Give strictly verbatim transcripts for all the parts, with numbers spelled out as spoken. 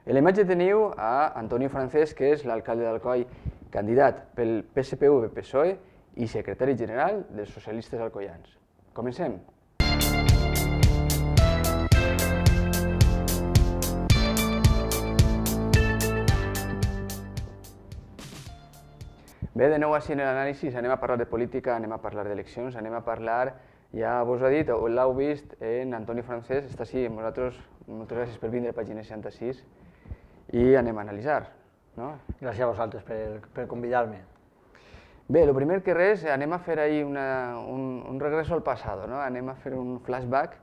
A la imatge teniu a Antonio Francesc, que és l'alcalde d'Alcoi, candidat pel P S P V P S O E i secretari general dels socialistes alcoians. Comencem. Bé, de nou així en l'anàlisi anem a parlar de política, anem a parlar d'eleccions, anem a parlar, ja vos ho ha dit, o l'heu vist, en Antoni Francesc, està així amb nosaltres, moltes gràcies per vindre a Pàgina seixanta-sis, i anem a analitzar. Gràcies a vosaltres per convidar-me. Bé, el primer que res, anem a fer ahir un regreso al passat, anem a fer un flashback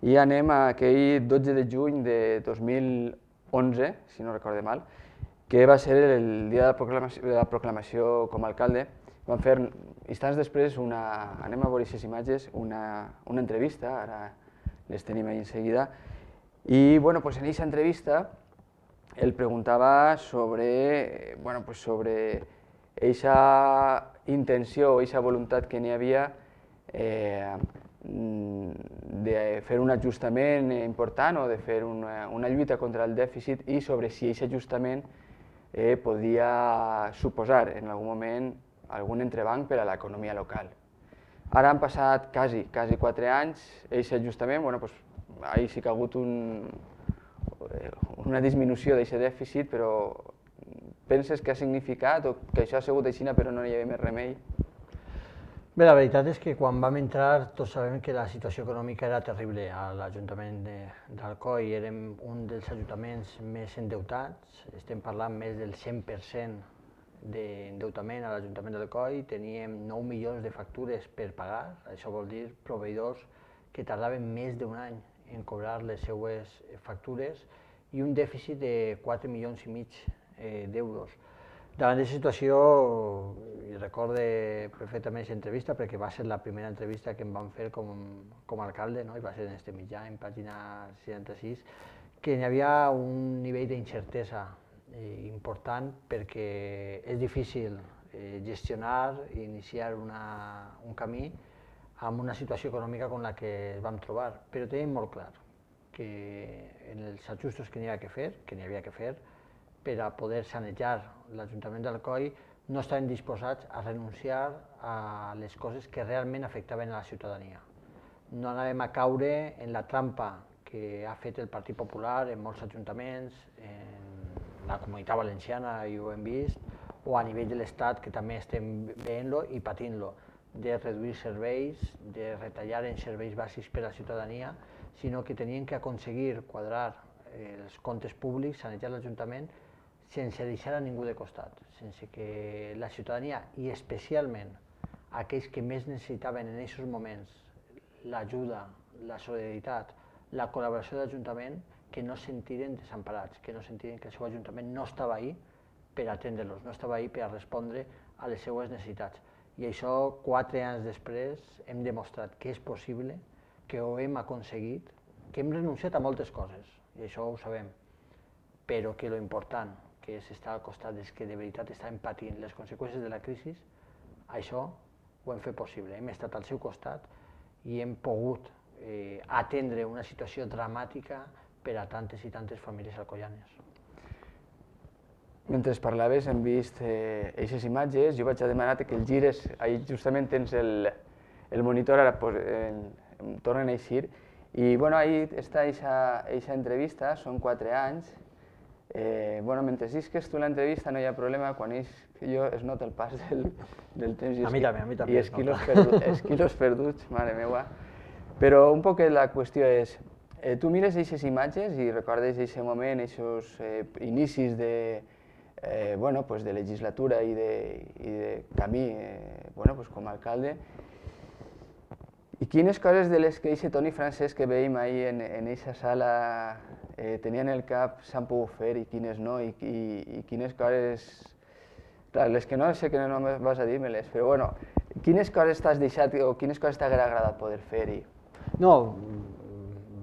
i anem a aquell dotze de juny de dos mil onze, si no recorde mal, que va ser el dia de la proclamació com a alcalde. Vam fer, instants després, anem a veure aquestes imatges, una entrevista, ara les tenim ahí en seguida, i en aquesta entrevista el preguntava sobre aquesta intenció o aquesta voluntat que n'hi havia de fer un ajustament important o de fer una lluita contra el dèficit i sobre si aquest ajustament podia suposar en algun moment algun entrebanc per a l'economia local. Ara han passat quasi quatre anys, aquest ajustament, ahir sí que ha hagut una disminució d'aquest dèficit, però penses que ha significat o que això ha sigut així però no hi havia més remei? Bé, la veritat és que quan vam entrar tots sabem que la situació econòmica era terrible a l'Ajuntament d'Alcoi. Érem un dels ajuntaments més endeutats, estem parlant més del cent per cent d'endeutament a l'Ajuntament d'Alcoi, teníem nou milions de factures per pagar, això vol dir proveïdors que tardaven més d'un any en cobrar les seues factures i un dèficit de quatre milions i mig d'euros. Davant d'aquesta situació, i recordo perfectament aquesta entrevista perquè va ser la primera entrevista que em van fer com a alcalde, i va ser en este mitjà, en Pàgina seixanta-sis, que hi havia un nivell d'incertesa important perquè és difícil gestionar i iniciar un camí amb una situació econòmica com la que ens vam trobar, però tenim molt clar que en els ajustos que n'hi havia que fer, que n'hi havia que fer, per a poder sanejar l'Ajuntament d'Alcoi, no estaven disposats a renunciar a les coses que realment afectaven a la ciutadania. No anàvem a caure en la trampa que ha fet el Partit Popular en molts ajuntaments, en la Comunitat Valenciana, i ho hem vist, o a nivell de l'Estat, que també estem veient-lo i patint-lo, de reduir serveis, de retallar en serveis bàsics per a la ciutadania, sinó que tenien que aconseguir quadrar els comptes públics, sanejar l'Ajuntament, sense deixar a ningú de costat, sense que la ciutadania, i especialment aquells que més necessitaven en aquests moments l'ajuda, la solidaritat, la col·laboració de l'Ajuntament, que no es sentiren desemparats, que no sentiren que el seu Ajuntament no estava ahí per atendre-los, no estava ahí per a respondre a les seues necessitats. I això, quatre anys després, hem demostrat que és possible, que ho hem aconseguit, que hem renunciat a moltes coses, i això ho sabem, però que l'important, que és estar al costat dels que de veritat estaven patint les conseqüències de la crisi, això ho hem fet possible. Hem estat al seu costat i hem pogut atendre una situació dramàtica per a tantes i tantes famílies alcoianes. Mentre parlaves hem vist aquestes imatges, jo vaig a demanar que el gires, ahí justament tens el monitor, ara em tornen a eixir, i ahí està aquesta entrevista, són quatre anys. Mentre llisques tu l'entrevista no hi ha problema, quan jo es nota el pas del temps i els quilos perduts, mare meva. Però un poc la qüestió és, tu mires aquestes imatges i recordes aquest moment, aquests inicis de legislatura i de camí com a alcalde, i quines coses de les que aquest Toni Francesc que veiem ahir en aquesta sala tenien el cap s'han pogut fer i quines no, i quines coses... Clar, les que no sé que no vas a dir-me-les, però bueno, quines coses t'has deixat o quines coses t'haguera agradat poder fer-hi? No,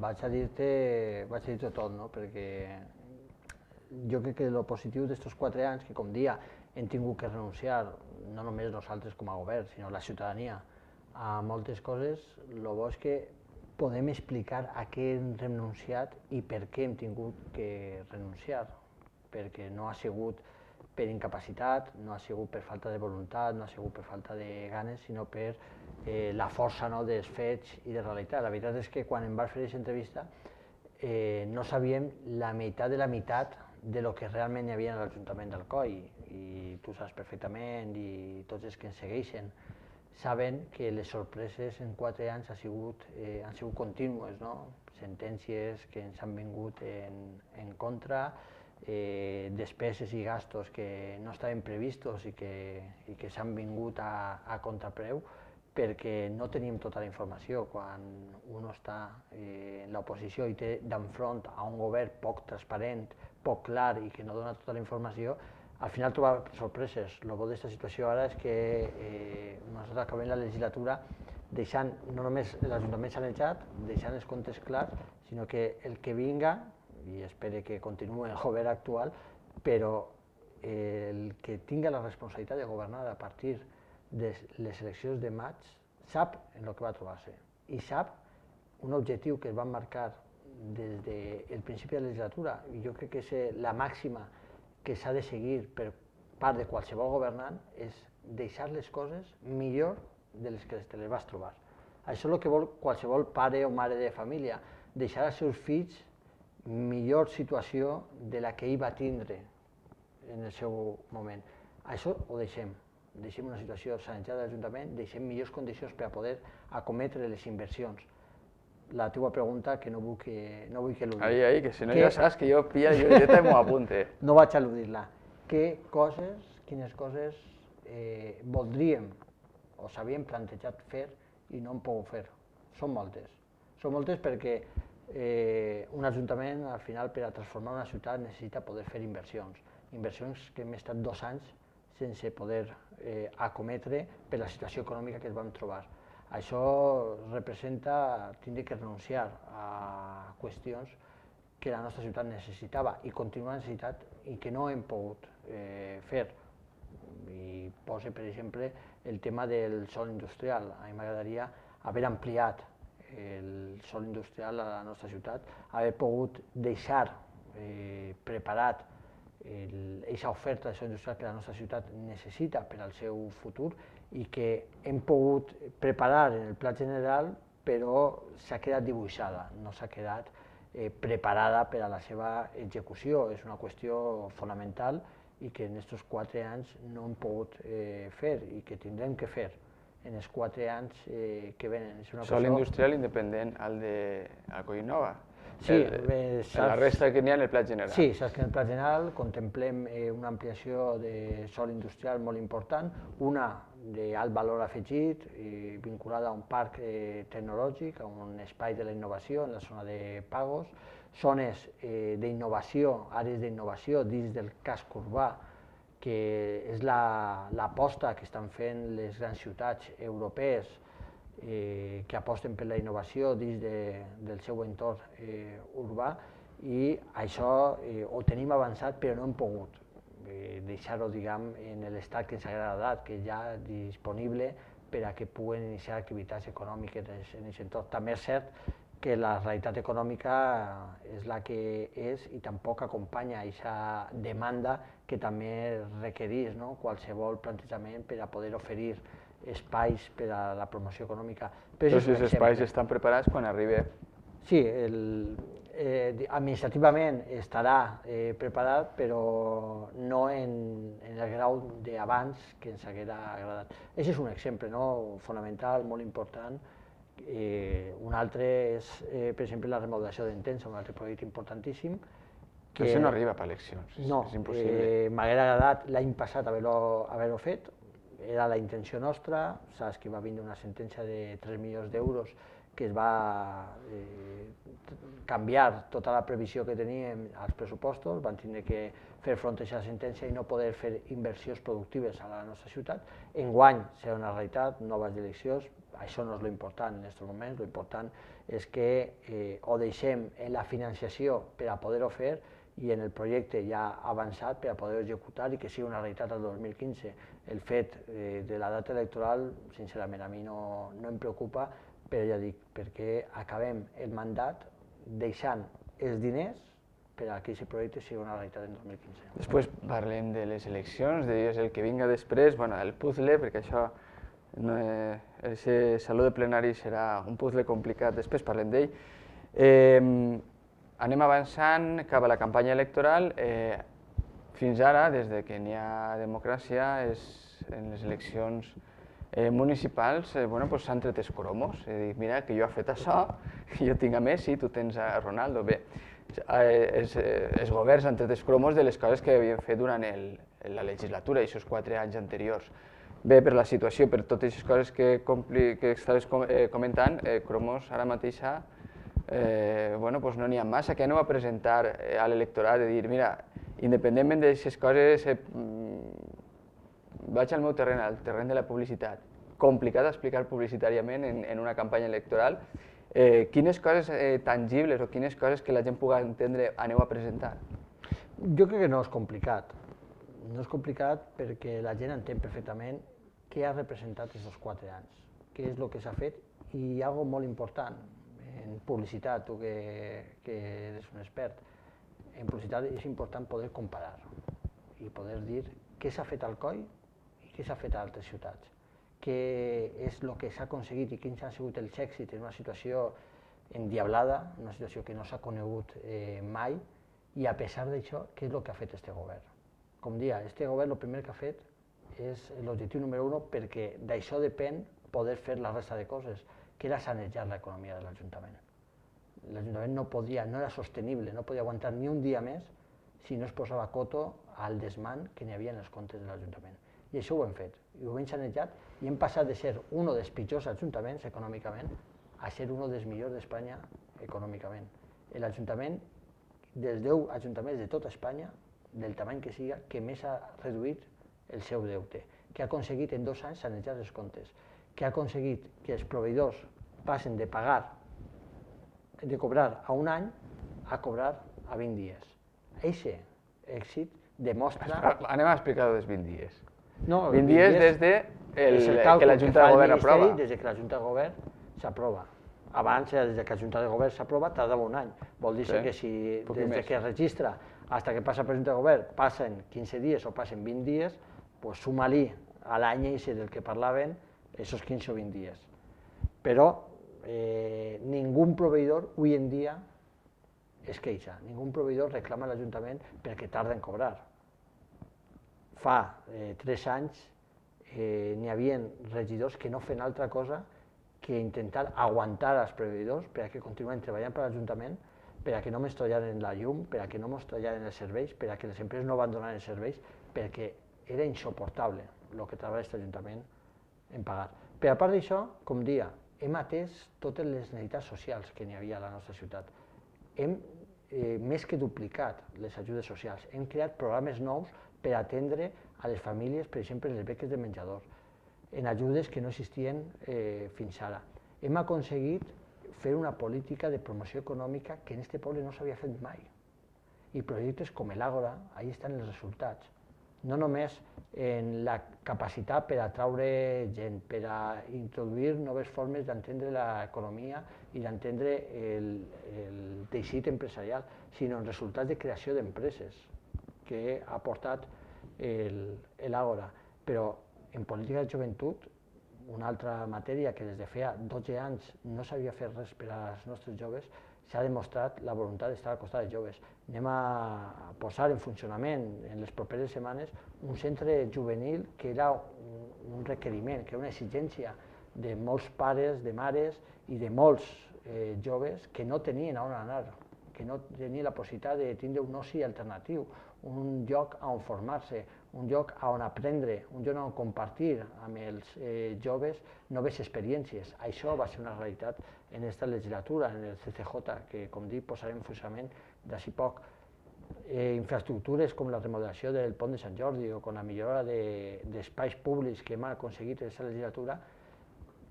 vaig a dir-te tot, perquè jo crec que el positiu d'estos quatre anys, que com dia hem tingut que renunciar, no només nosaltres com a govern, sinó la ciutadania, a moltes coses, el bo és que podem explicar a què hem renunciat i per què hem tingut que renunciar, perquè no ha sigut per incapacitat, no ha sigut per falta de voluntat, no ha sigut per falta de ganes, sinó per eh, la força no, dels fets i de realitat. La veritat és que quan em vas fer aquesta entrevista eh, no sabíem la meitat de la meitat de lo que realment hi havia a l'Ajuntament d'Alcoi, i tu saps perfectament, i tots els que ens segueixen saben que les sorpreses en quatre anys han sigut, eh, han sigut contínues, no? Sentències que ens han vingut en, en contra, eh, despeses i gastos que no estaven previstos i que, i que s'han vingut a, a contrapreu perquè no teníem tota la informació. Quan un està eh, en l'oposició i té d'enfront a un govern poc transparent, poc clar i que no dona tota la informació, al final trobar sorpreses. El bo d'aquesta situació ara és que eh, nosaltres acabem la legislatura deixant no només l'Ajuntament sanejat, deixant els comptes clars, sinó que el que vinga, i espero que continuï el govern actual, però eh, el que tinga la responsabilitat de governar a partir de les eleccions de maig sap en el que va trobar-se i sap un objectiu que es van marcar des del principi de la legislatura, i jo crec que és la màxima que s'ha de seguir per part de qualsevol governant, és deixar les coses millor de les que te les vas trobar. Això és el que vol qualsevol pare o mare de família, deixar als seus fills millor situació de la que ell va tindre en el seu moment. Això ho deixem. Deixem una situació sanejada de l'Ajuntament, deixem millors condicions per a poder acometre les inversions. La teua pregunta, que no vull que, no vull que l'oblidi. Ahí, ahí, que si no ja saps que jo pilla la llibreta i m'ho apunte. No vaig eludir-la. Què coses, quines coses eh, voldríem o s'havien plantejat fer i no hem pogut fer? Són moltes. Són moltes perquè eh, un ajuntament, al final, per a transformar una ciutat necessita poder fer inversions. Inversions que hem estat dos anys sense poder eh, acometre per la situació econòmica que ens vam trobar. Això representa tindre que renunciar a qüestions que la nostra ciutat necessitava i continua necessitat i que no hem pogut eh, fer. I posa, per exemple, el tema del sòl industrial. A mi m'agradaria haver ampliat el sòl industrial a la nostra ciutat, haver pogut deixar eh, preparat aquesta oferta de sòl industrial que la nostra ciutat necessita per al seu futur i que hem pogut preparar en el pla general, però s'ha quedat dibuixada, no s'ha quedat eh, preparada per a la seva execució. És una qüestió fonamental i que en aquests quatre anys no hem pogut eh, fer i que tindrem que fer en els quatre anys eh, que venen. És una Sòl industrial independent al de Alcoi Nova. Sí, el, eh, saps, la resta que n'hi ha en el pla general. Sí, saps que en el pla general contemplem eh, una ampliació de sòl industrial molt important, una d'alt valor afegit, eh, vinculada a un parc eh, tecnològic, a un espai de la innovació en la zona de Pagos, zones eh, d'innovació, àrees d'innovació dins del casc urbà, que és l'aposta la, que estan fent les grans ciutats europees eh, que aposten per la innovació dins de, del seu entorn eh, urbà, i això eh, ho tenim avançat però no hem pogut eh, deixar-ho, diguem, en l'estat que ens ha agradat, que ja disponible per a que puguen iniciar activitats econòmiques en aquest entorn. També és cert que la realitat econòmica és la que és i tampoc acompanya aquesta demanda que també requereix, no?, qualsevol plantejament per a poder oferir espais per a la promoció econòmica. Però si els espais estan preparats quan arribi? Sí, el, eh, administrativament estarà eh, preparat, però no en, en el grau d'abans que ens haguera agradat. Aquest és un exemple, no?, fonamental, molt important. Eh, un altre és, eh, per exemple, la remodelació d'Entença, un altre projecte importantíssim. Que això no arriba per eleccions, no, és impossible. Eh, m'haguera agradat l'any passat haver-ho haver fet, era la intenció nostra. Saps que va vindre una sentència de tres milions d'euros que es va eh, canviar tota la previsió que teníem als pressupostos, van tindre que fer front a aquesta sentència i no poder fer inversions productives a la nostra ciutat. Enguany serà una realitat, noves eleccions, això no és l'important en aquests moments, l'important és que eh, ho deixem en la financiació per a poder-ho fer i en el projecte ja avançat per a poder executar i que sigui una realitat el dos mil quinze. El fet eh, de la data electoral, sincerament, a mi no, no em preocupa, però ja dic, perquè acabem el mandat deixant els diners per a que aquest projecte sigui una realitat en dos mil quinze. Després parlem de les eleccions, de el que vinga després, bueno, el puzzle, perquè això, no, eh, el saló de plenari serà un puzzle complicat, després parlem d'ell. Eh, anem avançant cap a la campanya electoral. Eh, fins ara, des de que n'hi ha democràcia, és, en les eleccions eh, municipals eh, bueno, pues s'han tret els cromos. He dit, mira, que jo he fet això, jo tinc a Messi, tu tens a Ronaldo. Bé, els, els governs han tret els cromos de les coses que havien fet durant el, la legislatura, aquests quatre anys anteriors. Bé, per la situació, per totes aquestes coses que, compli, que estaves comentant, eh, cromos ara mateixa eh, bueno, pues no n'hi ha massa. Què aneu a presentar eh, a l'electorat de dir, mira, independentment d'aquestes coses, eh, vaig al meu terreny, al terreny de la publicitat. Complicat explicar publicitàriament en, en una campanya electoral. Eh, quines coses eh, tangibles o quines coses que la gent pugui entendre aneu a presentar? Jo crec que no és complicat. No és complicat perquè la gent entén perfectament què ha representat aquests quatre anys, què és el que s'ha fet, i hi ha algo molt important en publicitat, tu que, que eres un expert. En publicitat és important poder comparar i poder dir què s'ha fet al Coi i què s'ha fet a altres ciutats, què és el que s'ha aconseguit i quins han sigut els èxits en una situació endiablada, una situació que no s'ha conegut eh, mai, i a pesar d'això, què és el que ha fet este govern. Com dia, este govern el primer que ha fet és l'objectiu número uno, perquè d'això depèn poder fer la resta de coses, que era sanejar l'economia de l'Ajuntament. L'Ajuntament no podia, no era sostenible, no podia aguantar ni un dia més si no es posava coto al desmán que n'hi havia en els comptes de l'Ajuntament. I això ho hem fet, i ho hem sanejat, i hem passat de ser un dels pitjors ajuntaments econòmicament a ser un dels millors d'Espanya econòmicament. L'Ajuntament, dels deu ajuntaments de tota Espanya, del tamany que siga, que més ha reduït el seu deute, que ha aconseguit en dos anys sanejar els comptes, que ha aconseguit que els proveïdors passen de pagar, de cobrar a un any, a cobrar a vint dies. Aquest èxit demostra... Anem a explicar-ho dels vint dies. No, vint dies des de el, que la Junta de Govern aprova. Des que la Junta de Govern s'aprova. Abans, des que la Junta de Govern s'aprova, tardava un any. Vol dir sí, que si des que es registra fins que passa per la Junta de Govern passen quinze dies o passen vint dies, pues suma-li a l'any del que parlaven aquests quinze o vint dies. Però eh, ningú proveïdor avui en dia es queixa, ningú proveïdor reclama a l'Ajuntament perquè tarda en cobrar. Fa eh, tres anys eh, n'hi havia regidors que no feien altra cosa que intentar aguantar els proveïdors perquè continuïn treballant per l'Ajuntament, perquè no ens tallaren la llum, perquè no ens tallaren els serveis, perquè les empreses no abandonaven els serveis, perquè era insuportable el que treballa aquest Ajuntament en pagar. Per a part d'això, com dia, hem atès totes les necessitats socials que n'hi havia a la nostra ciutat. Hem eh, més que duplicat les ajudes socials, hem creat programes nous per atendre a les famílies, per exemple, les beques de menjador, en ajudes que no existien eh, fins ara. Hem aconseguit fer una política de promoció econòmica que en aquest poble no s'havia fet mai. I projectes com l'Àgora, ahí estan els resultats. No només en la capacitat per atraure gent, per a introduir noves formes d'entendre l'economia i d'entendre el, el teixit empresarial, sinó en resultats de creació d'empreses que ha portat l'Àgora. Però en política de joventut, una altra matèria que des de feia dotze anys no s'havia fet res per als nostres joves, s'ha demostrat la voluntat d'estar al costat dels joves. Anem a posar en funcionament en les properes setmanes un centre juvenil que era un requeriment, que era una exigència de molts pares, de mares i de molts eh, joves que no tenien on anar, que no tenien la possibilitat de tindre un oci alternatiu, un lloc on formar-se, un lloc on aprendre, un lloc on compartir amb els eh, joves noves experiències. Això va ser una realitat en aquesta legislatura, en el C C J, que, com dic, posarem en funcionament d'ací poc. Eh, infraestructures com la remodelació del pont de Sant Jordi o com la millora d'espais de, públics que hem aconseguit en aquesta legislatura,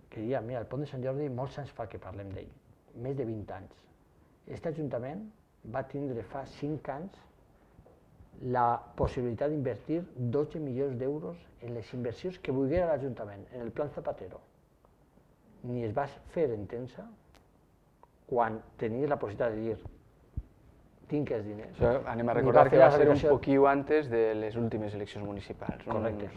que diria, mira, el pont de Sant Jordi molts anys fa que parlem d'ell, més de vint anys. Aquest Ajuntament va tindre fa cinc anys la possibilitat d'invertir dotze milions d'euros en les inversions que volguera l'Ajuntament, en el Plan Zapatero. ni es va fer entendre quan tenies la possibilitat de dir tinc els diners. Això anem a recordar que va ser un poquiu antes de les últimes eleccions municipals. Correcte.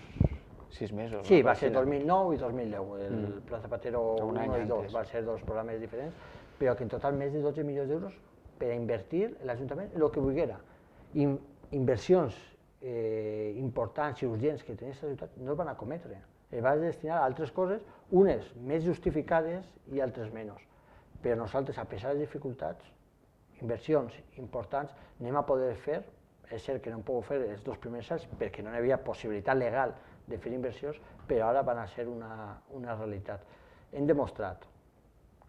Sis mesos. Sí, va ser dos mil nou i dos mil deu. El Mm. Pla Zapatero Un any un i dos antes. va ser dos programes diferents, però que en total més de dotze milions d'euros per a invertir l'Ajuntament el que volguera. In, inversions eh, importants i urgents que tenia aquesta ciutat no es van a cometre. Es van destinar a altres coses, unes més justificades i altres menys. Però nosaltres, a pesar de les dificultats, inversions importants, anem a poder fer, és cert que no hem pogut fer els dos primers anys perquè no hi havia possibilitat legal de fer inversions, però ara van a ser una, una realitat. Hem demostrat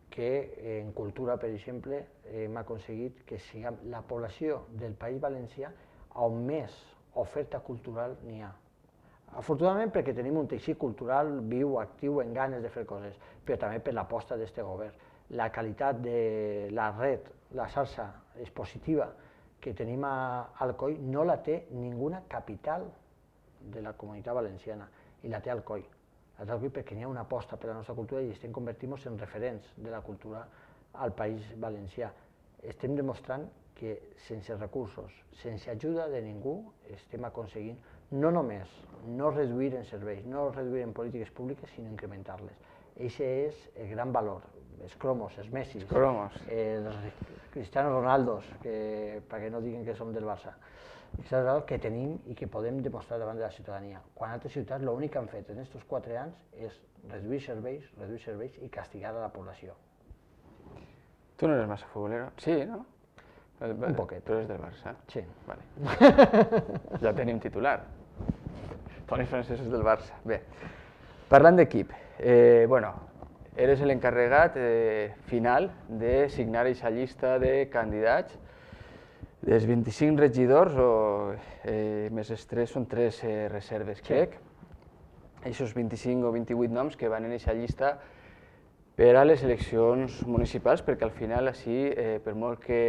que en cultura, per exemple, hem aconseguit que siguem la població del País Valencià on més oferta cultural n'hi ha. Afortunadament perquè tenim un teixit cultural viu, actiu, en ganes de fer coses, però també per l'aposta d'aquest govern. La qualitat de la red, la xarxa expositiva que tenim a Alcoi no la té ninguna capital de la comunitat valenciana, i la té Alcoi. La té Alcoi perquè n'hi ha una aposta per la nostra cultura i estem convertint-nos en referents de la cultura al País Valencià. Estem demostrant que sense recursos, sense ajuda de ningú, estem aconseguint no només no reduir en serveis, no reduir en polítiques públiques, sinó incrementar-les. Aquest és el gran valor. Els cromos, els Messi, els Cristiano Ronaldos, que, perquè no diguen que som del Barça, és el que tenim i que podem demostrar davant de la ciutadania. Quan altres ciutats l'únic que han fet en aquests quatre anys és reduir serveis, reduir serveis i castigar a la població. Tu no eres massa futbolero? Sí, no? Un poquet. Tu eres del Barça? Sí. Vale. Ja tenim titular. Toni Francesc és del Barça. Bé, parlant d'equip, eh, bueno, eres l'encarregat eh, final de signar aquesta llista de candidats. Dels vint-i-cinc regidors, o eh, més els tres, són tres eh, reserves, crec. Aquests vint-i-cinc o vint-i-vuit noms que van en aquesta llista per a les eleccions municipals, perquè al final, així, eh, per molt que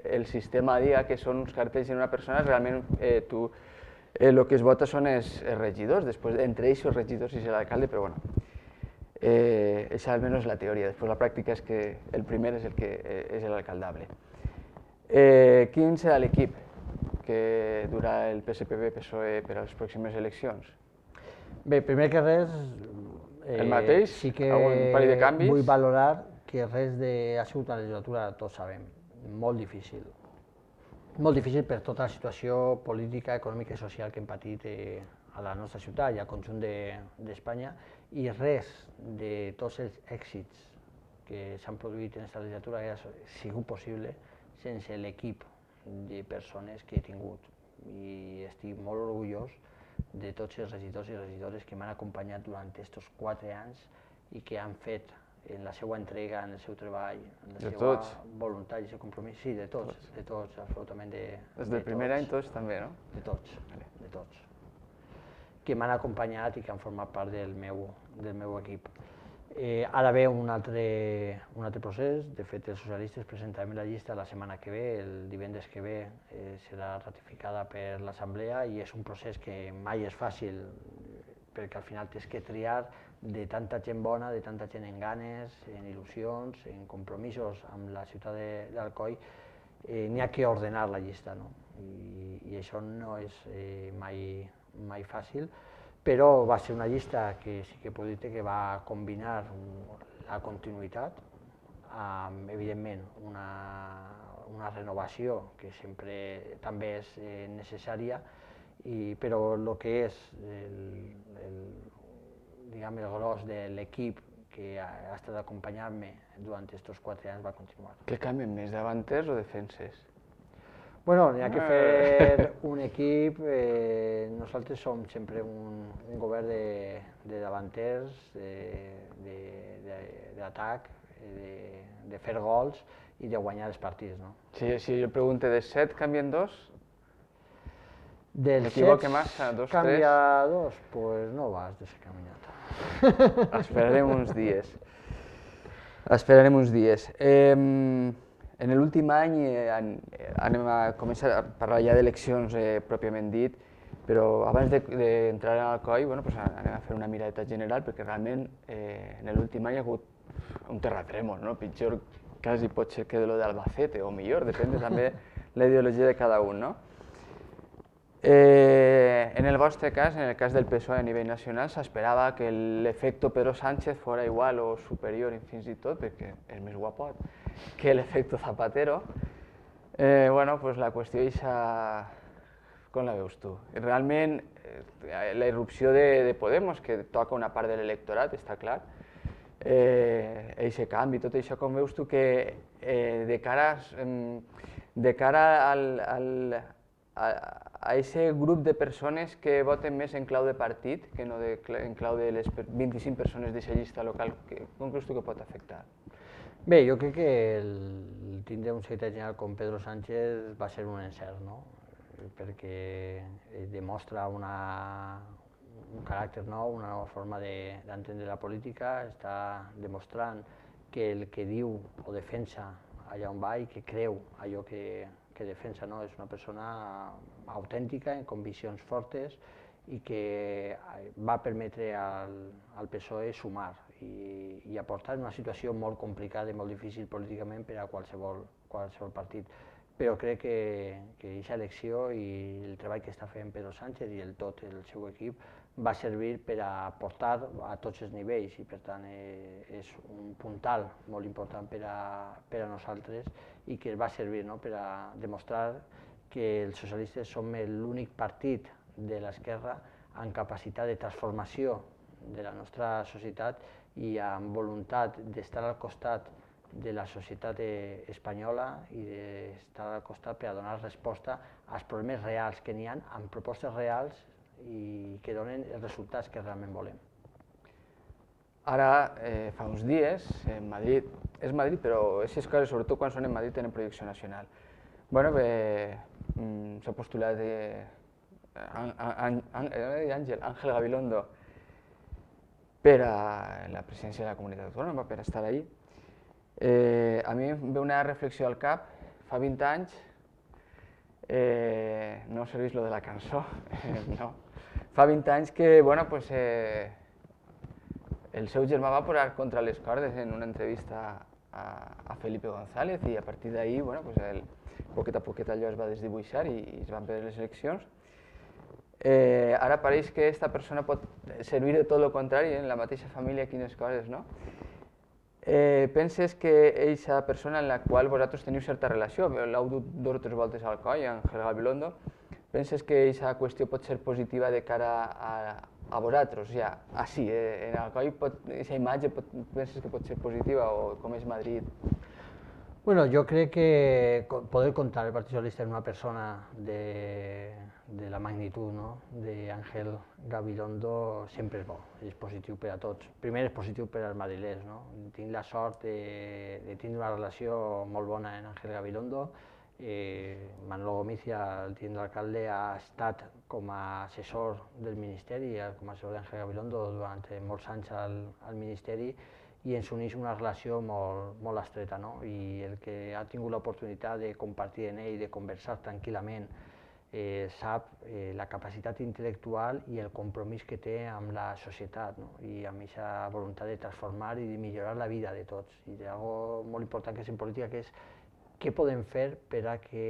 el sistema diga que són uns cartells en una persona, realment eh, tu el eh, que es vota són els, els regidors, després entre ells els regidors i l'alcalde, però bueno, eh, això almenys és la teoria, després la pràctica és que el primer és el que eh, és l'alcaldable. Eh, quin serà l'equip que durà el P S P B P S O E per a les pròximes eleccions? Bé, primer que res, eh, el mateix? Sí que algun parell de canvis? Vull valorar que res de... ha sigut una legislatura, tots sabem, molt difícil. Molt difícil per tota la situació política, econòmica i social que hem patit eh, a la nostra ciutat i al conjunt d'Espanya, de, i res de tots els èxits que s'han produït en aquesta legislatura ha sigut possible sense l'equip de persones que he tingut. I estic molt orgullós de tots els regidors i regidores que m'han acompanyat durant aquests quatre anys i que han fet en la seva entrega, en el seu treball, en la seva voluntat i el seu compromís. Sí, de tots, de tots, absolutament de tots. Des del primer any tots també, no? De tots, de tots. Que m'han acompanyat i que han format part del meu equip. Eh, ara ve un altre, un altre procés, de fet els socialistes presentarem la llista la setmana que ve, el divendres que ve eh, serà ratificada per l'Assemblea i és un procés que mai és fàcil perquè al final tens que triar de tanta gent bona, de tanta gent en ganes, en il·lusions, en compromisos amb la ciutat d'Alcoi, eh, n'hi ha que ordenar la llista, no? I, i això no és eh, mai, mai fàcil. Però va ser una llista que sí que puc dir que va combinar la continuïtat amb, evidentment, una, una renovació que sempre també és eh, necessària, i, però el que és el, el, diguem, el gros de l'equip que ha, ha estat acompanyant-me durant aquests quatre anys va continuar. Què canvien més, davanters o defenses? Bueno, n'hi ha que fer un equip, eh, nosaltres som sempre un, un govern de, de davanters, d'atac, de, de, de, de fer gols i de guanyar els partits. No? Si, si jo pregunto de set, canvien dos? Del M'equivoque massa, dos, tres? Canvia dos? Pues no vas descaminat. Esperarem uns dies. Esperarem uns dies. Eh, En l'últim any eh, anem a començar a parlar ja d'eleccions eh, pròpiament dit, però abans d'entrar de, a Alcoi, bueno, pues anem a fer una miradeta general perquè realment eh, en l'últim any hi ha hagut un terratrèmol, no? Pitjor quasi pot ser que de lo d'Albacete, o millor, depèn també la ideologia de cada un, no? Eh, en el vostre cas, en el cas del P S O E a nivell nacional, s'esperava que l'efecte Pedro Sánchez fora igual o superior, fins i tot, perquè és més guapot, que l'efecte Zapatero. Eh, bueno, pues la qüestió és com la veus tu? Realment, eh, la irrupció de, de Podemos, que toca una part de l'electorat, està clar, eh, eixe canvi, tot això, com veus tu que eh, de cara, de cara al, al, a aquest grup de persones que voten més en clau de partit que no de, en clau de les vint-i-cinc persones d'aquesta llista local, com creus tu que pot afectar? Bé, jo crec que el tindre un secretari general com Pedro Sánchez va ser un encert, no? Perquè demostra una, un caràcter nou, una nova forma d'entendre la política, està demostrant que el que diu o defensa allà on va i que creu allò que, que defensa, no? És una persona autèntica, amb conviccions fortes i que va permetre al, al P S O E sumar i, i aportar en una situació molt complicada i molt difícil políticament per a qualsevol, qualsevol partit. Però crec que aquesta elecció i el treball que està fent Pedro Sánchez i el tot el seu equip va servir per a aportar a tots els nivells i per tant eh, és un puntal molt important per a, per a nosaltres i que va servir, no?, per a demostrar que els socialistes som l'únic partit de l'esquerra amb capacitat de transformació de la nostra societat i amb voluntat d'estar al costat de la societat espanyola i d'estar al costat per a donar resposta als problemes reals que n'hi ha, amb propostes reals i que donen els resultats que realment volem. Ara, eh, fa uns dies, en Madrid, és Madrid, però aquestes coses, sobretot quan són en Madrid, tenen projecció nacional. Bueno, eh, s'ha postulat eh, Àngel Gabilondo per a la presidència de la comunitat autònoma, per estar allí. Eh, a mi em ve una reflexió al cap, fa vint anys, eh, no serveix lo de la cançó, eh, no. Fa vint anys que, bueno, pues, eh, el seu germà va posar contra les cordes en una entrevista a, a Felipe González i a partir d'ahir, bueno, pues, el, poquet a poquet allò es va desdibuixar i, i es van perdre les eleccions. Eh, ara pareix que aquesta persona pot servir de tot el contrari, en la mateixa família, quines coses, no? Eh, penses que aquesta persona en la qual vosaltres teniu certa relació, l'heu dut dues o tres voltes al coll, Ángel Gabilondo, penses que aquesta qüestió pot ser positiva de cara a, a vosaltres? Ja, així, eh, en el coll, aquesta imatge pot, penses que pot ser positiva o com és Madrid? Bueno, jo crec que poder comptar el Partit Socialista en una persona de, de la magnitud, no?, d'Àngel Gabilondo sempre és bo, és positiu per a tots. Primer és positiu per als madrilers, no? Tinc la sort de, de tindre una relació molt bona amb Àngel Gabilondo. Eh, Manolo Gomizia, el tinent d'alcalde, ha estat com a assessor del Ministeri, com a assessor d'Àngel Gabilondo durant molts anys al, al Ministeri, i ens uneix una relació molt, molt estreta, no? I el que ha tingut l'oportunitat de compartir en ell, de conversar tranquil·lament, eh, sap eh, la capacitat intel·lectual i el compromís que té amb la societat, no? I amb aquesta voluntat de transformar i de millorar la vida de tots. I hi ha una molt important que és en política, que és què podem fer per a que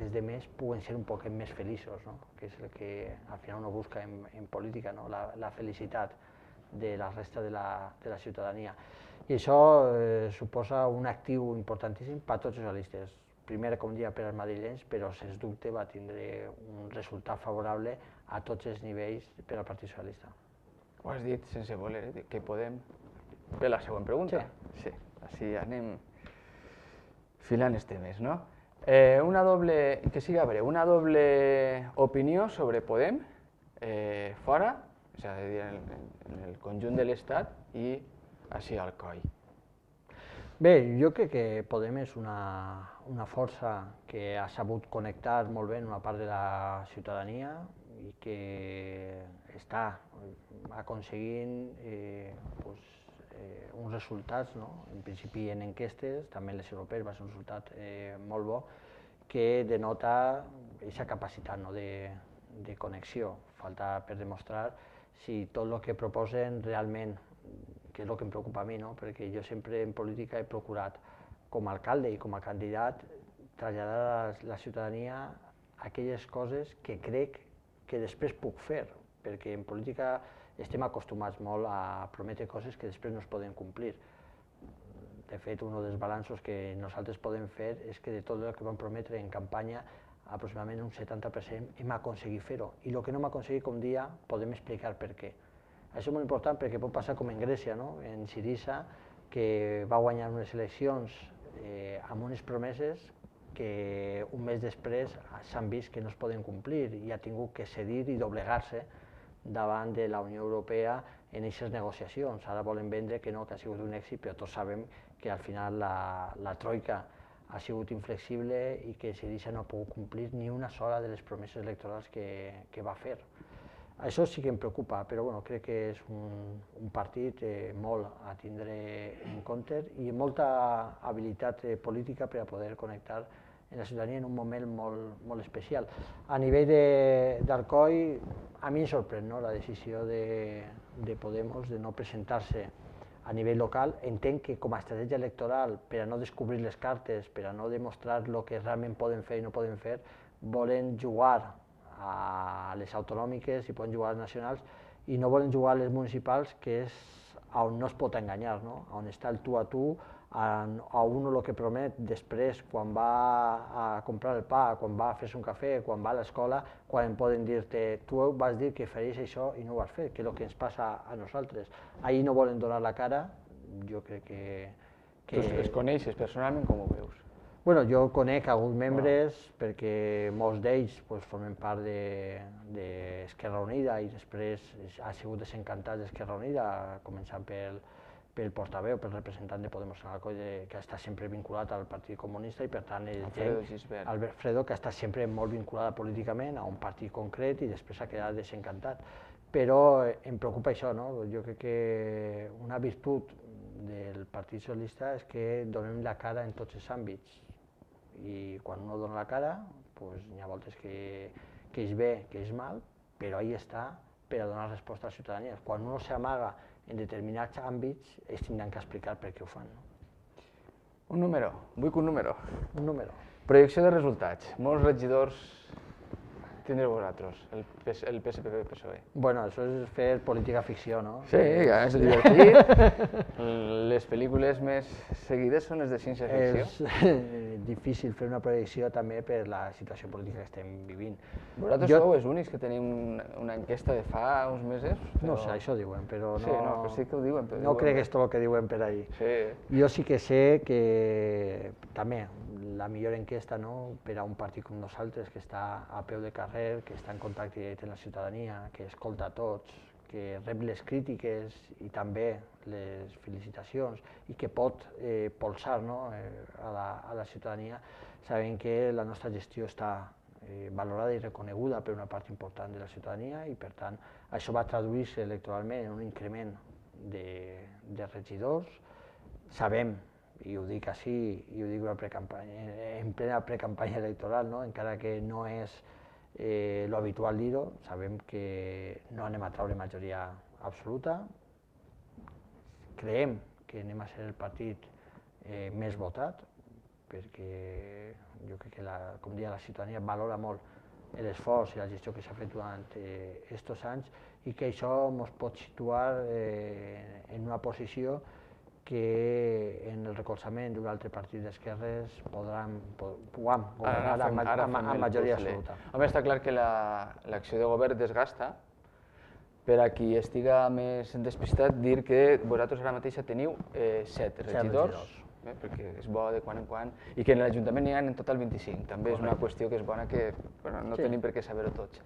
els altres puguen ser un poquet més feliços, no? Que és el que al final uno busca en, en política, no? La, la felicitat de la resta de la, de la ciutadania. I això eh, suposa un actiu importantíssim per a tots els socialistes. Primer, com dia, per als madrilenys, però sens dubte va tindre un resultat favorable a tots els nivells per al Partit Socialista. Ho has dit sense voler, eh? Que podem... Bé, la següent pregunta. Sí. Sí, així anem filant els temes, no? Eh, una doble, que siga breu, una doble opinió sobre Podem, eh, fora, és a dir, en, en el conjunt de l'Estat i així al coll. Bé, jo crec que Podem és una, una força que ha sabut connectar molt bé en una part de la ciutadania i que està aconseguint eh, pues, eh, uns resultats, no? En principi en enquestes, també en les europees va ser un resultat eh, molt bo, que denota aquesta capacitat, no?, de, de connexió. Falta per demostrar si tot el que proposen realment que és el que em preocupa a mi, no? Perquè jo sempre en política he procurat, com a alcalde i com a candidat, traslladar a la ciutadania aquelles coses que crec que després puc fer, perquè en política estem acostumats molt a prometre coses que després no es poden complir. De fet, un dels balanços que nosaltres podem fer és que de tot el que vam prometre en campanya, aproximadament un setanta per cent hem aconseguit fer-ho, i el que no hem aconseguit, com dia, podem explicar per què. Això és molt important perquè pot passar com en Grècia, no? En Syriza, que va guanyar unes eleccions eh, amb unes promeses que un mes després s'han vist que no es poden complir i ha tingut que cedir i doblegar-se davant de la Unió Europea en aquestes negociacions. Ara volen vendre que no, que ha sigut un èxit, però tots sabem que al final la, la troika ha sigut inflexible i que Syriza no ha pogut complir ni una sola de les promeses electorals que, que va fer. Això sí que em preocupa, però bueno, crec que és un, un partit eh, molt a tindre en compte i amb molta habilitat eh, política per a poder connectar en la ciutadania en un moment molt, molt especial. A nivell d'Alcoi, a mi em sorprèn, no?, la decisió de, de Podemos de no presentar-se a nivell local. Entenc que com a estratègia electoral, per a no descobrir les cartes, per a no demostrar el que realment poden fer i no poden fer, volen jugar a les autonòmiques i poden jugar a les nacionals i no volen jugar a les municipals, que és on no es pot enganyar, no? On està el tu a tu, a un el que promet després, quan va a comprar el pa, quan va a fer-se un cafè, quan va a l'escola, quan poden dir-te tu vas dir que faries això i no ho vas fer, que és el que ens passa a nosaltres. Ahir no volen donar la cara, jo crec que... Tu els coneixes personalment, com ho veus? Bueno, jo conec alguns membres perquè molts d'ells formen part d'Esquerra Unida i després ha sigut desencantat d'Esquerra Unida, començant pel pel portaveu, pel representant de Podemos en Alcoi, que està sempre vinculat al Partit Comunista i per tant Albert Fredo, que està sempre molt vinculat políticament a un partit concret i després ha quedat desencantat. Però em preocupa això, no? Jo crec que una virtut del Partit Socialista és que donem la cara en tots els àmbits i quan uno dona la cara hi ha voltes que és bé, que és mal, però ahí està per a donar resposta a la ciutadania. Quan uno s'amaga en determinats àmbits, es tindran que explicar per què ho fan. Un número, vull que un número. Un número. Projecció de resultats. Molts regidors tindreu vosaltres, el P S P P P S O E. Bueno, això és fer política ficció, no? Sí, és divertit. Les pel·lícules més seguides són les de ciència-ficció. És difícil fer una projecció també per la situació política que estem vivint. Vosaltres sou els únics que tenim una enquesta de fa uns mesos? No sé, això diuen, però no... Sí, no, però sí que ho diuen. No crec que és tot el que diuen per ahí. Jo sí que sé que també la millor enquesta per a un partit com nosaltres, que està a peu de carrer, que està en contacte directe amb la ciutadania, que escolta a tots, que rep les crítiques i també les felicitacions i que pot polsar a la ciutadania, sabent que la nostra gestió està valorada i reconeguda per una part important de la ciutadania i per tant això va traduir-se electoralment en un increment de regidors. Sabem, i ho dic així, i ho dic en plena precampanya electoral, encara que no és l'habitual dir-ho, sabem que no anem a treure majoria absoluta, creiem que anem a ser el partit més votat, perquè jo crec que, com deia, la ciutadania valora molt l'esforç i la gestió que s'ha fet durant aquests anys i que això ens pot situar en una posició que en el recolzament d'un altre partit d'esquerres puguem governar amb majoria absoluta. Home, està clar que l'acció de govern desgasta. Per a qui estiga més despistat, dir que vosaltres ara mateix teniu set regidors, perquè és bo de quan en quan, i que en l'Ajuntament n'hi ha en total vint-i-cinc. També és una qüestió que és bona que no tenim per què saber-ho tots.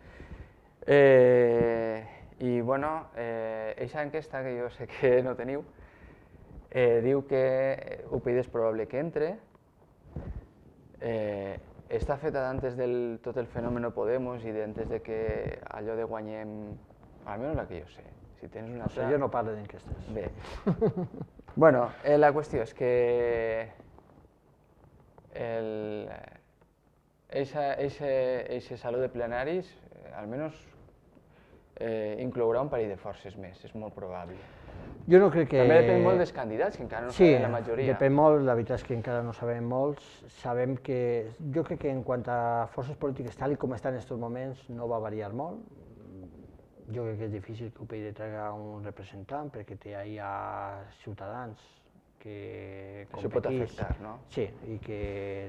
I, bueno, aquesta enquesta, que jo sé que no teniu, diu que U P YD és probable que entre. Està feta d'antes del tot el fenomen Podemos i d'antes de que allò de guanyem, almenys la que jo sé. Si tens una altra... Jo no parlo d'enquestes. Bé. Bueno, la qüestió és que eixa saló de plenaris almenys inclourà un parell de forces més, és molt probable. Jo no crec que... També depèn molt dels candidats, que encara no sí, sabem la majoria. Sí, depèn molt, la veritat és que encara no sabem molts. Sabem que, jo crec que en quant a forces polítiques, tal com estan en aquests moments, no va variar molt. Jo crec que és difícil que U P y traiga un representant, perquè té allà Ciutadans que competís. Això pot afectar, no? Sí, i que,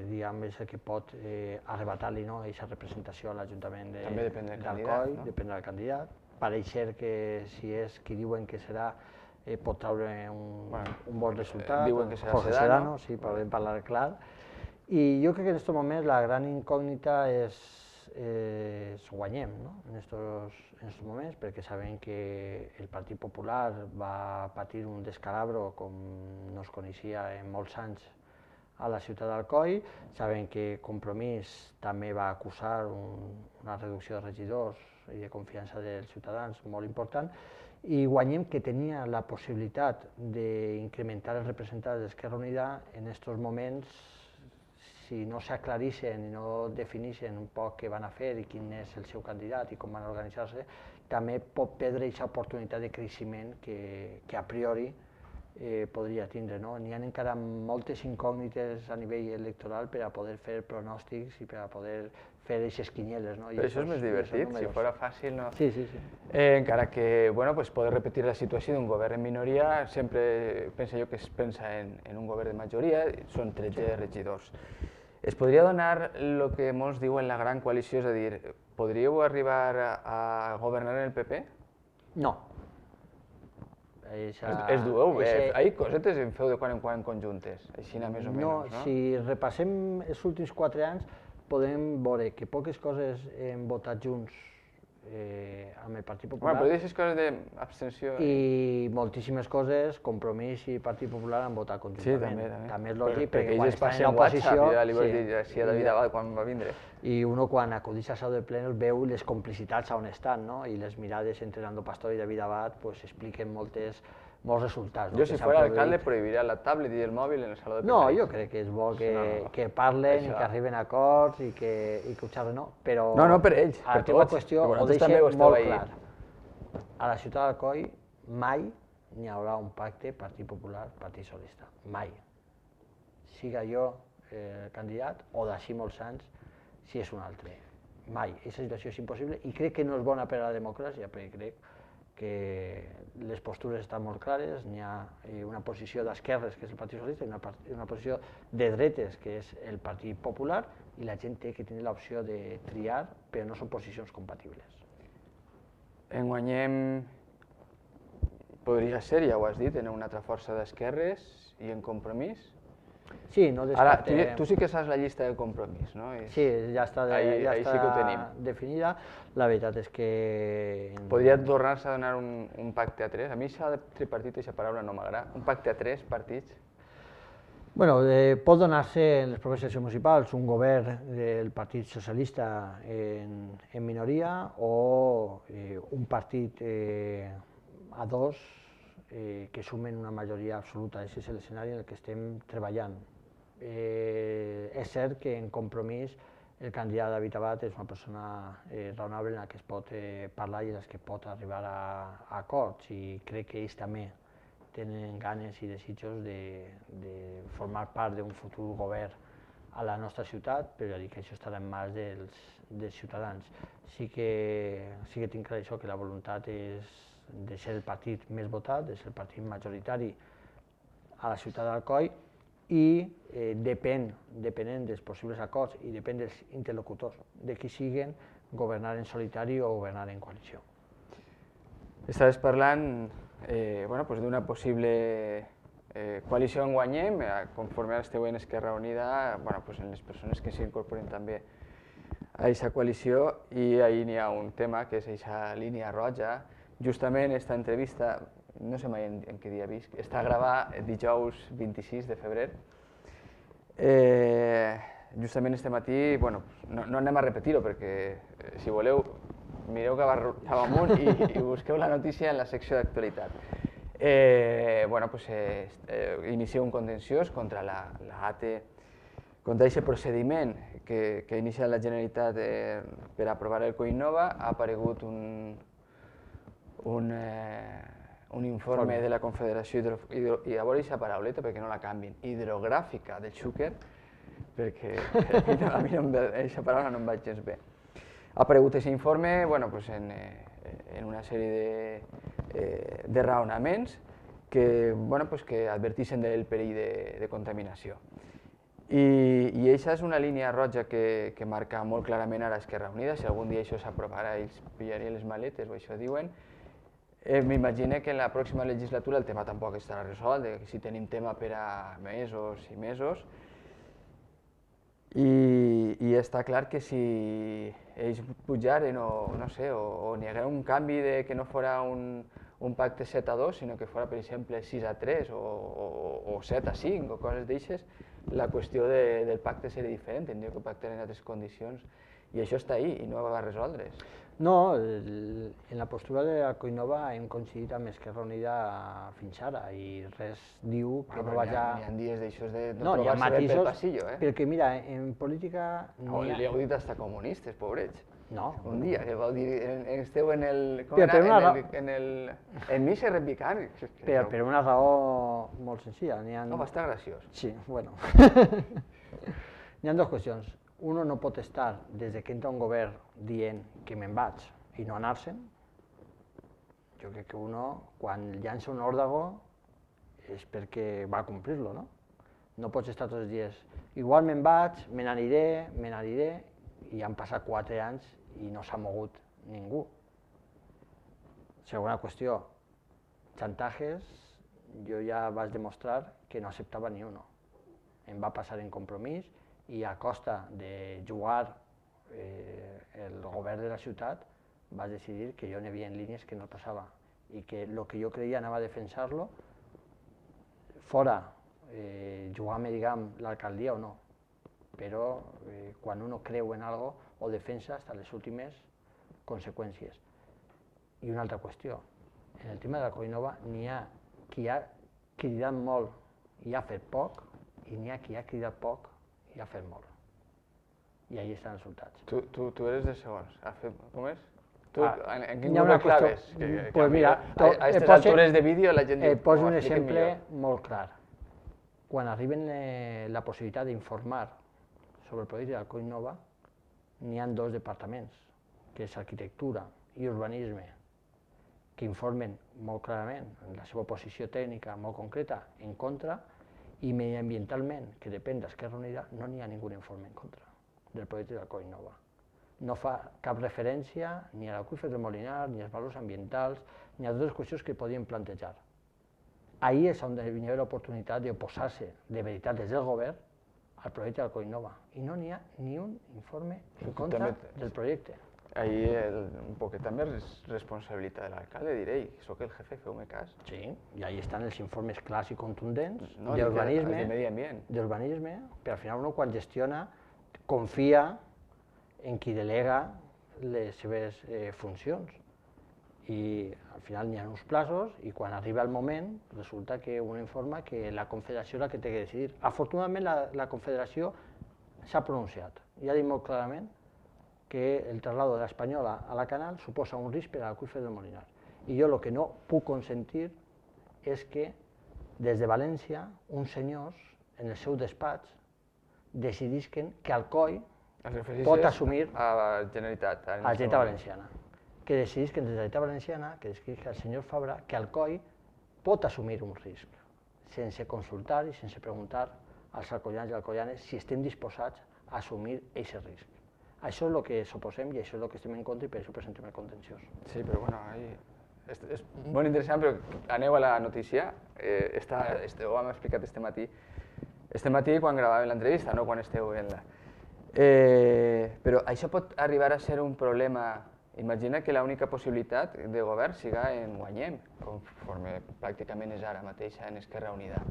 diguem, és el que pot eh, arrebatar-li, no?, aquesta representació a l'Ajuntament de, també depèn del d'Alcoi, candidat, no? depèn del candidat. Pareix ser que si és qui diuen que serà, eh, pot treure un, bueno, un bon resultat. Diuen que serà Jorge Sedano, sí, podem parlar clar. I jo crec que en aquest moment la gran incògnita és, eh, es guanyem, no?, en estos, en estos moments, perquè sabem que el Partit Popular va patir un descalabro com no es coneixia en molts anys a la ciutat d'Alcoi. Sabem que Compromís també va acusar un, una reducció de regidors i de confiança dels ciutadans molt important, i guanyem que tenia la possibilitat d'incrementar els representants d'Esquerra Unida en aquests moments. Si no s'aclarixen i no definixen un poc què van a fer i quin és el seu candidat i com van organitzar-se, també pot perdre aquesta oportunitat de creixement que, que a priori eh, podria tindre, no? N'hi ha encara moltes incògnites a nivell electoral per a poder fer pronòstics i per a poder fer aquestes quinieles, no? Però això és més divertit, si fos fàcil, no? Sí, sí, sí. Eh, encara que, bueno, pues poder repetir la situació d'un govern en minoria, sempre penso jo que es pensa en, en un govern de majoria, són tretze regidors. Es podria donar el que molts diuen la gran coalició, és a dir, podríeu arribar a, a governar en el P P? No. Esa, es, es dueu, ese... eh, hi cosetes en feu de quan en quan conjuntes, així més o menys, no? No, si repassem els últims quatre anys, podem veure que poques coses hem votat junts eh, amb el Partit Popular. Bueno, però aquestes coses d'abstenció... I moltíssimes coses, Compromís i Partit Popular han votat conjuntament. Sí, també, també. També és lògic, perquè, perquè quan estan en oposició... WhatsApp, ja li vols dir així a David Abad quan va vindre. I uno quan acudeix a sau de pleno veu les complicitats on estan, no? I les mirades entre Nando Pastor i David Abad pues, expliquen moltes, molts resultats. Jo, si fos alcalde, prohibiria la tablet i el mòbil en el saló de No, jo crec que és bo que, no, no. que parlen i que arriben a acords i que, i que ho xerren, no? Però no, no, per ells, per la teva qüestió ho deixa molt clar. A la ciutat d'Alcoi mai n'hi haurà un pacte Partit Popular, Partit Socialista. Mai. Siga jo eh, candidat o d'ací molts anys, si és un altre. Mai. Aquesta situació és impossible i crec que no és bona per a la democràcia, perquè crec que les postures estan molt clares, n'hi ha una posició d'esquerres, que és el Partit Socialista, i una, una posició de dretes, que és el Partit Popular, i la gent té que tenir l'opció de triar, però no són posicions compatibles. En Guanyem podria ser, ja ho has dit, en una altra força d'esquerres i en Compromís? Sí, no descartem... Ara, tu, tu sí que saps la llista de Compromís, no? És... Sí, ja està, de, ahí, ja ahí està sí que ho tenim. definida. La veritat és que... Podria tornar-se a donar un, un pacte a tres? A mi això de tripartit, aquesta paraula no m'agrada. Un pacte a tres partits? Bueno, eh, pot donar-se en les properes eleccions municipals un govern del Partit Socialista en, en minoria o eh, un partit eh, a dos eh, que sumen una majoria absoluta. Aquest és l'escenari en el que estem treballant. Eh, és cert que en Compromís el candidat David Abad és una persona eh, raonable en la que es pot eh, parlar i en la que pot arribar a, a acords, i crec que ells també tenen ganes i desitjos de, de formar part d'un futur govern a la nostra ciutat, però ja dic que això estarà en mans dels, dels ciutadans. Sí que, sí que tinc clar això, que la voluntat és de ser el partit més votat, de ser el partit majoritari a la ciutat d'Alcoi, i eh, depèn, depenent dels possibles acords i depèn dels interlocutors, de qui siguen, governar en solitari o governar en coalició. Estaves parlant eh, bueno, pues d'una possible eh, coalició en Guanyem, eh, conforme ara esteu en Esquerra Unida, bueno, pues en les persones que s'incorporen també a aquesta coalició, i ahí n'hi ha un tema que és aquesta línia roja. Justament aquesta entrevista, no sé mai en, en què dia visc, està gravada dijous vint-i-sis de febrer. Eh, justament este matí, bueno, no, no anem a repetir-ho perquè, eh, si voleu, mireu cap amunt i, i busqueu la notícia en la secció d'actualitat. Eh, bueno, pues, eh, eh, inicia un contenciós contra la, la A T E, contra aquest procediment que, que inicia la Generalitat eh, per aprovar el Coinnova. Ha aparegut un, un, eh, un informe de la Confederació Hidro, hidro, i a veure aquesta parauleta perquè no la canvien, hidrogràfica del Xúquer, perquè a mi, no, a mi no, aquesta paraula no em vaig gens bé. Ha aparegut aquest informe bueno, pues en, eh, en una sèrie de, eh, de raonaments que, bueno, pues que adverteixen del perill de, de contaminació. I, i aquesta és una línia roja que, que marca molt clarament ara Esquerra Unida. Si algun dia això s'aprovarà, ells pillarien les maletes o això diuen. Eh, M'imagino que en la pròxima legislatura el tema tampoc estarà resolt, que si tenim tema per a mesos i mesos. I, i està clar que si ells pujaren o no sé, o, o n'hi haguera un canvi de que no fora un, un pacte set a dos, sinó que fora, per exemple, sis a tres o, o, o set a cinc o coses d'aixes, la qüestió de, del pacte seria diferent, tindria que pactar en altres condicions, i això està ahí i no va resoldre's. No, el, en la postura de la Coinova hem coincidit amb Esquerra Unida fins ara i res diu que bueno, no vaja... N'hi ha, ha dies d'aixòs de no, no trobar-se bé pel passillo, eh? Perquè mira, en política... No, li heu dit hasta comunistes, pobrets. No. Un dia que vau dir, esteu en el... Com però, era? Una... En el... En el... En mi se repicant. Però per una raó molt senzilla. Ha... No, va estar graciós. Sí, bueno. N'hi ha dues qüestions. Uno no pot estar, des que entra un govern, dient que me'n vaig i no anar-se'n. Jo crec que uno, quan llança un òrdago, és perquè va complir-lo, no? No pots estar tots els dies, igual me'n vaig, me n'aniré, me n'aniré, i han passat quatre anys i no s'ha mogut ningú. Segona qüestió, xantatges, jo ja vaig demostrar que no acceptava ni uno. Em va passar en Compromís, i a costa de jugar eh, el govern de la ciutat vaig decidir que jo n'hi havia en línies que no passava i que el que jo creia anava a defensar-lo fora eh, jugar-me, diguem, l'alcaldia o no, però eh, quan uno creu en algo ho defensa fins a les últimes conseqüències. I una altra qüestió, en el tema de la Coinova n'hi ha qui ha cridat molt i ha fet poc i n'hi ha qui ha cridat poc i ha fet molt. I ahí estan els resultats. Tu, tu, tu eres de segons. Ha fet, com és? Tu, Ah, en, en quin hi ha grup una el claves? qüestió- Que, que, pues que mira, a, to- a eh, aquestes posa- altures de vídeo la gent Eh, diu, poso "Oh, un expliquen exemple millor". molt clar. Quan arriben eh, la possibilitat d'informar sobre el projecte del Coinova, n'hi ha dos departaments, que és arquitectura i urbanisme, que informen molt clarament la seva posició tècnica molt concreta en contra, i mediambientalment, que depèn d'Esquerra Unida, no n'hi ha ningú informe en contra del projecte del Coinova. No fa cap referència ni a l'aqüífer del Molinar, ni als valors ambientals, ni a totes les qüestions que podien plantejar. Ahí és on hi ha l'oportunitat d'oposar-se de veritat des del govern al projecte del Coinova. I no n'hi ha ni un informe en contra del projecte. Ahí el, un poquet també és responsabilitat de l'alcalde, diré, soc el jefe, feu-me cas. Sí, i ahí estan els informes clars i contundents No, d'urbanisme, de medi ambient. d'urbanisme, però al final uno quan gestiona confia en qui delega les seves eh, funcions. I al final n'hi ha uns plaços i quan arriba el moment resulta que uno informa que la Confederació és la que té que decidir. Afortunadament la, la Confederació s'ha pronunciat i ha dit molt clarament que el traslado de l'Espanyola a la Canal suposa un risc per a l'aqüífer del Molinar. I jo el que no puc consentir és que des de València uns senyors en el seu despatx decidisquen que Alcoi pot assumir a la Generalitat, a la Generalitat Valenciana, que decidisquen des de la Generalitat Valenciana, que decidisquen el senyor Fabra, que Alcoi pot assumir un risc, sense consultar i sense preguntar als alcoians i alcoianes si estem disposats a assumir aquest risc. Això és el que s'oposem i això és el que estem en contra i per això presentem el contenciós. Sí, però bueno, ahí... És, és molt interessant, però aneu a la notícia. Eh, està, este, ho hem explicat este matí. Este matí quan gravàvem l'entrevista, no quan esteu en la... Eh, però això pot arribar a ser un problema. Imagina que l'única possibilitat de govern siga en guanyem, conforme pràcticament és ara mateix en Esquerra Unida.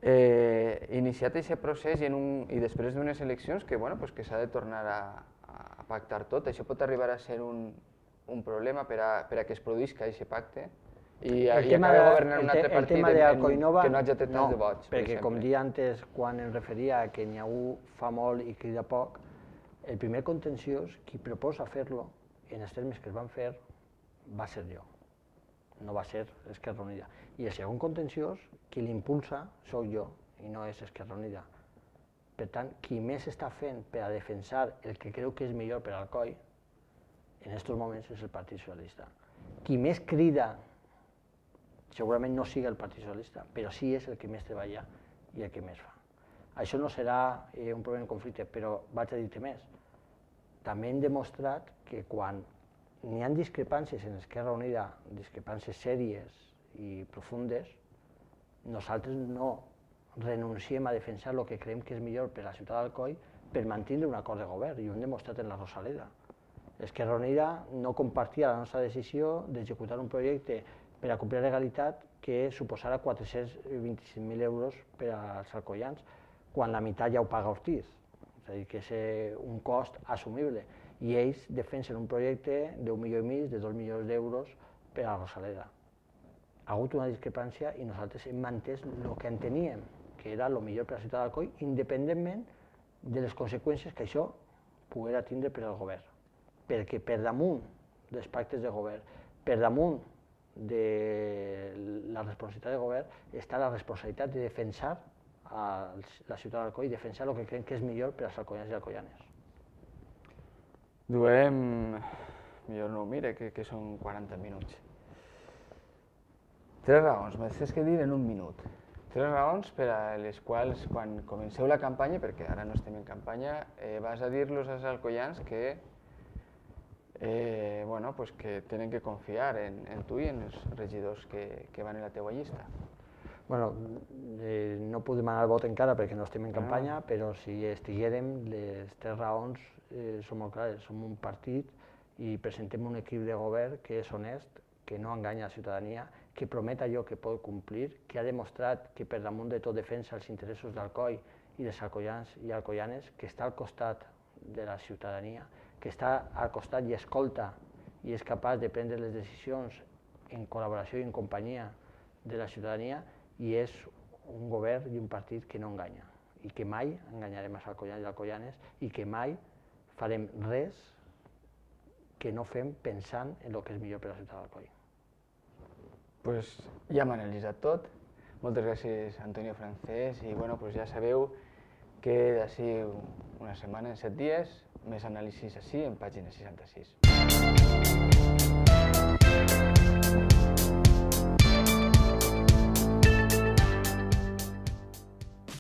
Eh, iniciat aquest procés i, en un, i després d'unes eleccions que, bueno, pues que s'ha de tornar a, a pactar tot, això pot arribar a ser un, un problema per a, per a que es produïsca aquest pacte i, i acabi governant un altre partit en, en, que no hagi tret tants de vots. Perquè com dia antes, quan em referia a que n'hi ha un fa molt i crida poc, el primer contenciós, qui proposa fer-lo, en els termes que es van fer, va ser jo. no va ser Esquerra Unida. I el segon contenciós, qui l'impulsa, sóc jo, i no és Esquerra Unida. Per tant, qui més està fent per a defensar el que creu que és millor per al C O I, en aquests moments és el Partit Socialista. Qui més crida, segurament no siga el Partit Socialista, però sí és el que més treballa i el que més fa. Això no serà eh, un problema de conflicte, però vaig a dir-te més. També hem demostrat que quan n'hi ha discrepàncies en Esquerra Unida, discrepàncies sèries i profundes, nosaltres no renunciem a defensar el que creiem que és millor per a la ciutat d'Alcoi per mantenir un acord de govern, i ho hem demostrat en la Rosaleda. Esquerra Unida no compartia la nostra decisió d'executar un projecte per a complir la legalitat que suposarà quatre-cents vint-i-cinc mil euros per als alcoians, quan la meitat ja ho paga Ortiz. És a dir, que és un cost assumible. I ells defensen un projecte d'un milió i mig, de dos milions d'euros per a la Rosaleda. Ha hagut una discrepància i nosaltres hem mantès el que enteníem, que era el millor per a la ciutat d'Alcoi, independentment de les conseqüències que això poguera tindre per al govern. Perquè per damunt dels pactes de govern, per damunt de la responsabilitat de govern, està la responsabilitat de defensar a la ciutat d'Alcoi i defensar el que creiem que és millor per als alcoians i alcoianes. Duem, millor no ho mire, que, que són quaranta minuts. Tres raons, me tens que dir en un minut. Tres raons per a les quals, quan comenceu la campanya, perquè ara no estem en campanya, eh, vas a dir-los als alcoians que, eh, bueno, pues que tenen que confiar en, en tu i en els regidors que, que van en la teua llista. Bueno, eh, no puc demanar el vot encara perquè no estem en campanya, ah. però si estiguérem, les tres raons eh, són molt clares. Som un partit i presentem un equip de govern que és honest, que no enganya a la ciutadania, que promet allò que pot complir, que ha demostrat que per damunt de tot defensa els interessos d'Alcoi i dels alcoians i alcoianes, que està al costat de la ciutadania, que està al costat i escolta i és capaç de prendre les decisions en col·laboració i en companyia de la ciutadania, i és un govern i un partit que no enganya, i que mai enganyarem els alcoians i alcoianes, i que mai farem res que no fem pensant en el que és millor per a la ciutat d'Alcoi. Pues ja m'han analitzat tot. Moltes gràcies, Antonio Francés, i bueno, pues ja sabeu que d'ací una setmana, en set dies, més anàlisis així en pàgina seixanta-sis.